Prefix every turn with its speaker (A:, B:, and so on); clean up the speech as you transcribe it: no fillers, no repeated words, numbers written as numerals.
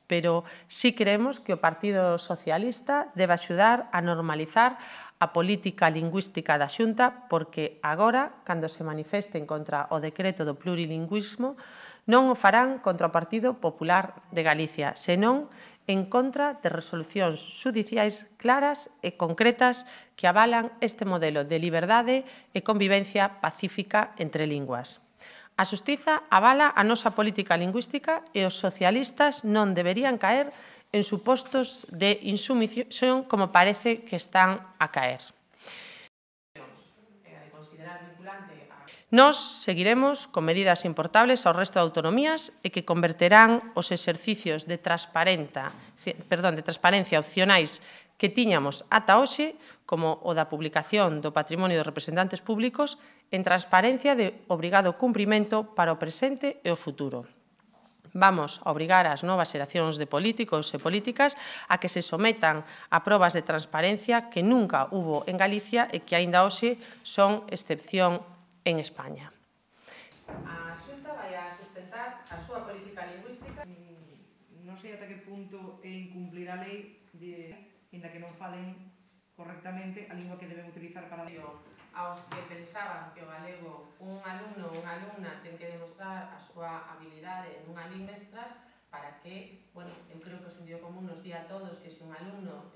A: pero sí creemos que o Partido Socialista debe axudar a normalizar a política lingüística da Xunta, porque agora, cando se manifesten contra o decreto do plurilingüismo, non o farán contra o Partido Popular de Galicia, senón en contra de resolucións xudiciais claras e concretas que avalan este modelo de liberdade e convivencia pacífica entre linguas. A xustiza avala a nosa política lingüística e os socialistas non deberían caer en supostos de insumisión como parece que están a caer. Nós seguiremos con medidas importables ao resto de autonomías e que converterán os exercicios de transparencia opcionais que tiñamos ata hoxe, como o da publicación do patrimonio dos representantes públicos, en transparencia de obrigado cumprimento para o presente e o futuro. Vamos a obrigar as novas xeracións de políticos e políticas a que se sometan a probas de transparencia que nunca hubo en Galicia e que aínda hoxe son excepción en España. A Xunta vai a sustentar a súa política lingüística.
B: Non sei ata que punto é incumplir a lei, ainda que non falen correctamente a lingua que deben utilizar para...
A: Aos que pensaban que o galego un alumno ou unha alumna ten que demostrar a súa habilidade nunha lingua extras para que, bueno, eu creo que o sentido común nos di a todos que se un alumno